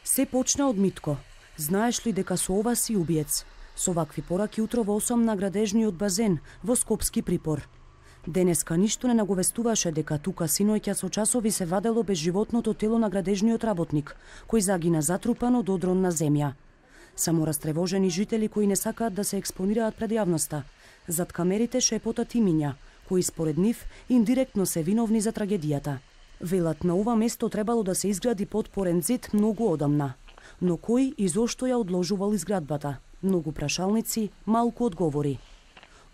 Се почна од Митко. Знаеш ли дека со ова си убиец? Со вакви пораки утро во 8 на градежниот базен во Скопски припор. Денеска ништо не наговестуваше дека тука синоќа со часови се вадело безживотното тело на градежниот работник, кој загина затрупан од одрон на земја. Само растревожени жители кои не сакаат да се експонираат пред јавноста. Зад камерите шепотат имиња, кои според нив индиректно се виновни за трагедијата. Велат на ова место требало да се изгради подпорен зид многу одамна. Но кој и зошто ја одложувал изградбата? Многу прашалници, малку одговори.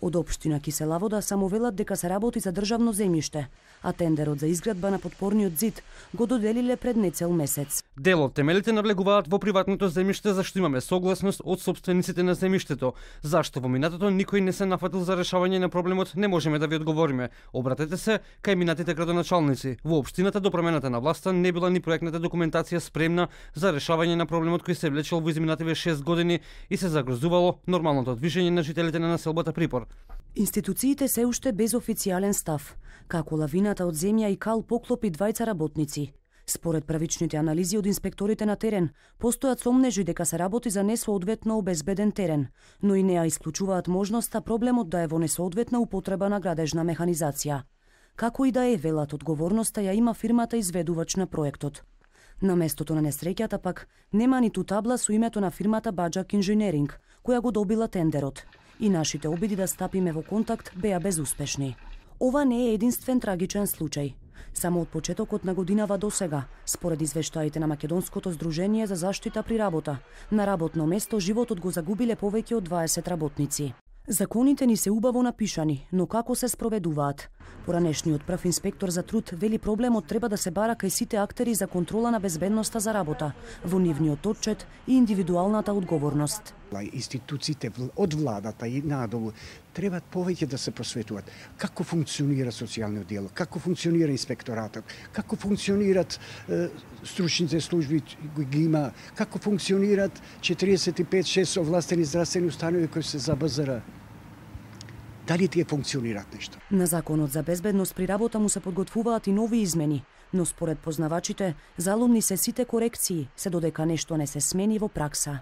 Од општина Киселавода само велат дека се работи за државно земјиште, а тендерот за изградба на подпорниот зид го доделиле пред нецел месец. Дел од темелите навлегуваат во приватното земјиште зашто имаме согласност од собствениците на земјиштето. Зашто во минатото никој не се нафатил за решавање на проблемот, не можеме да ви одговориме. Обратете се кај минатите градоначалници. Во општината до промената на власта не била ни проектната документација спремна за решавање на проблемот кој се влечел во изминативе 6 години и се загрозувало нормалното движење на жителите на населбата Припор. Институциите се уште без официјален став, како лавината од земја и кал поклопи двајца работници. Според правичните анализи од инспекторите на терен, постојат сомнежи дека се работи за несоодветно обезбеден терен, но и не ја исклучуваат можноста проблемот да е во несоодветна употреба на градежна механизација. Како и да е, велат, одговорноста ја има фирмата изведувач на проектот. На местото на несреќата пак нема ниту табла со името на фирмата Баџак Инженеринг, која го добила тендерот. И нашите обиди да стапиме во контакт беа безуспешни. Ова не е единствен трагичен случај. Само од почетокот на годинава до сега, според извештаите на Македонското здружение за заштита при работа, на работно место животот го загубиле повеќе од 20 работници. Законите ни се убаво напишани, но како се спроведуваат? Поранешниот прв инспектор за труд вели проблемот треба да се бара кај сите актери за контрола на безбедноста за работа, во нивниот отчет и индивидуалната одговорност. Институциите од владата и надолу треба повеќе да се просветуваат како функционира социјалниот диалог, како функционира инспекторатот, како функционират стручните служби ги има, како функционират 45-6 овластени здравствени установи кои се за БЗР. Дали тие функционираат нешто? На законот за безбедност при работа му се подготвуваат и нови измени, но според познавачите, заломни се сите корекции, се додека нешто не се смени во пракса.